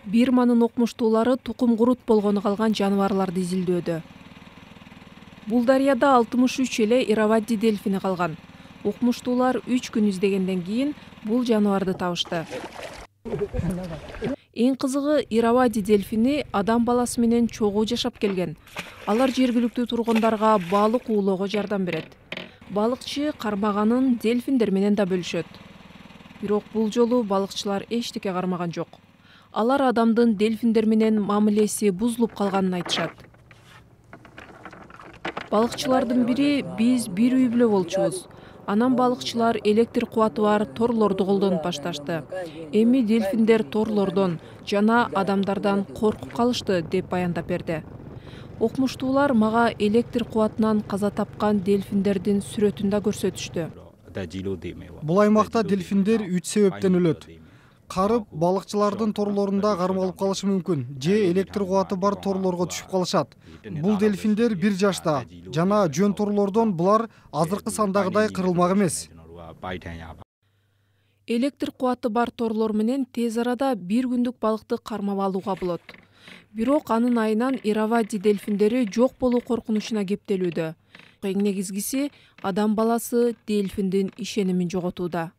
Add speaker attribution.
Speaker 1: Бирманын окумуштуулары тукум курут болгону калган жаныбарларды изилдөөдө. Бул дарыяда 63 эле Иравади дельфини калган. Окумуштуулар 3 күн издегенден кийин бул жаныбарды табышты. Эң кызыгы, Иравади дельфини адам баласы менен чогуу жашап келген. Алар жергиликтүү тургундарга балык уулоого жардам берет. Балыкчы кармаганын дельфиндер менен да бөлүшөт. Бирок бул жолу балыкчылар эчтеке кармаган жок. Алар адамдын дельфиндер менен мамилеси бузулуп калганын айтышат. Балыкчылардын бири биз бир үй бүлө болчубуз. Анан балыкчылар электр кубаты бар торлорду колдонуп башташты. Эми дельфиндер торлордон жана адамдардан коркуп калышты, деп баяндап берди. Окумуштуулар мага электр кубатынан каза тапкан дельфиндердин сүрөтүн да көрсөтүштү.
Speaker 2: Бул аймакта дельфиндер 3 себептен өлөт. Карып, балыкчылардын торлорунда кармалып калышы мүмкүн, же электр кубаты бар торлорго түшүп калышат. Бул дельфиндер 1 жашта жана жөн торлордон булар азыркы сандагыдай кырылмак эмес.
Speaker 1: Электр кубаты бар торлор менен тез арада 1 күндүк балыкты кармап алууга болот. Бирок анын айынан Иравади дельфиндери жок болуу коркунучуна кептелүүдө. Эң негизгиси, адам баласы дельфиндин ишенимин жоготууда.